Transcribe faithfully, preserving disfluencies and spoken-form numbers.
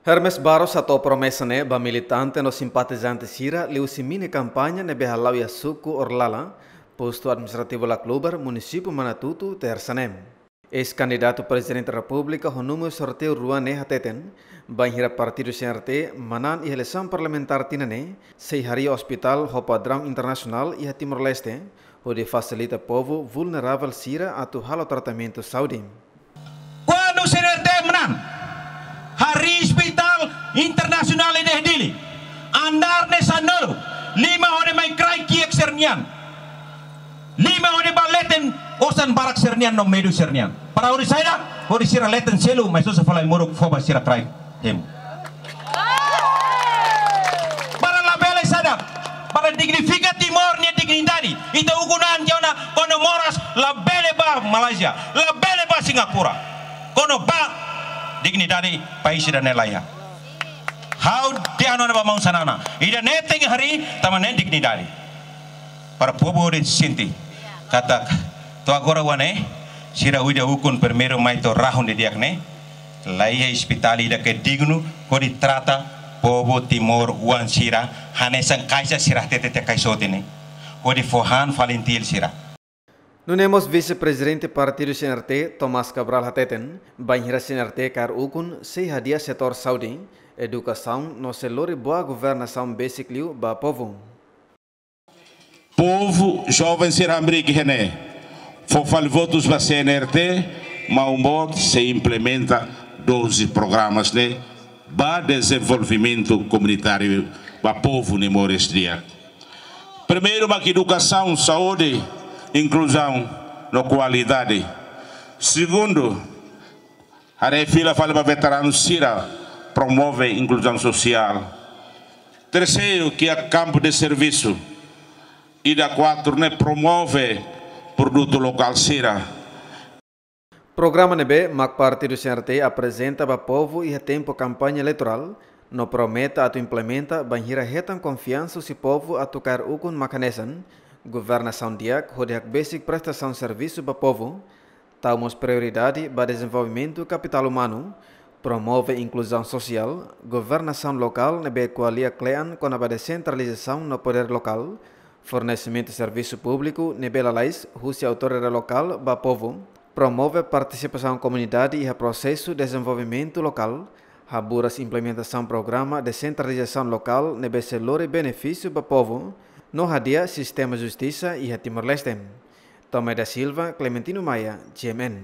Hermes Barros hato'o promesa ne'e ba militante no simpatizante sira liuhusi mini kampaña ne'ebé hala'o iha suku Orlala, postu administrativu Laclubar, munisípiu Manatuto, Tersa ne'e. Eis-kandidatu Prezidente Repúblika ho númeru sorteiu rua ne'e hateten, bainhira partidu C N R T manán iha eleisaun parlamentár tinan ne'e, sei harii ospitál ho padraun internasionál iha Timor-Leste, hodi fasilita povu vulneravel sira atu halo tratamentu saúde. Kuandu C N R T manán, harii ospitál internasionál iha Dili, andár ne'e sanulu, lima hodi mai kraik kiak sira-nian, lima hodi ba leten osan barak sira-nian no medu sira-nian. Para hodi saida, hodi sira leten selu, mai sosa fali ai-moruk fó ba sira kraik hemu. Para labele saida, para dignifika Timor nia dignidade. Ita ukun an tiha ona, kuandu moras labele ba Malázia, labele ba Singapura. Kuandu ba, dignidade país ida-ne'e laiha. Ha'u dehan ona ba maun Xanana, ida-ne'e tenke harii, tanba ne'e dignidade. Para povu hodi sente katak to'o agora oan ne'e, sira ida ukun primeiru mai to'o rahun didi'ak ne'e, laiha ospitál ida ke dignu hodi trata povu Timor oan sira, hanesan kaixa sira hatete tiha kaixa hotu ne'e, hodi fó han fali intil sira. Nune'e mós Vise-Prezidente Partidu C N R T, Tomás Cabral hateten, bainhira C N R T kaer ukun sei hadi'a setór saúde, edukasaun no sei lori boa governasaun besik liu ba povu. Povu, joven sira hamriik iha ne'e, fó fali votus ba C N R T, maun boot sei implementa doze programas ne'e ba dezenvolvimentu komunitáriu ba povu ne'e moris di'ak. Primeiru mak edukasaun, saúde, inkluzaun no kualidade. Segundu, haree fila fali ba veteranu sira, promove inkluzaun sosiál. Terseiru, kria kampu de servisu. Ida kuatru ne'e promove produtu lokál sira. Programa ne'ebé mak Partidu C N R T aprezenta ba povu iha tempu kampaña eleitorál, no promete atu implementa bainhira hetan konfiansa husi povu atu kaer ukun mak hanesan, governasaun di'ak hodi hakbesik prestasaun servisu ba povu, tau mós prioridade ba dezenvolvimentu kapitál umanu, promove inkluzaun sosiál, governasaun lokál ne'ebé ko'alia kle'an kona-ba desentralizasaun no podér lokál, fornesimentu servisu públiku ne'ebé lalais husi autoridade lokál ba povu, promove partisipasaun komunidade iha prosesu dezenvolvimentu lokál, haburas implementasaun programa desentralizasaun lokál ne'ebé sei lori benefísiu ba povu, no hadi'a sistema justisa iha Timor-Leste. Tomé da Silva, Clementino Maia, G M N.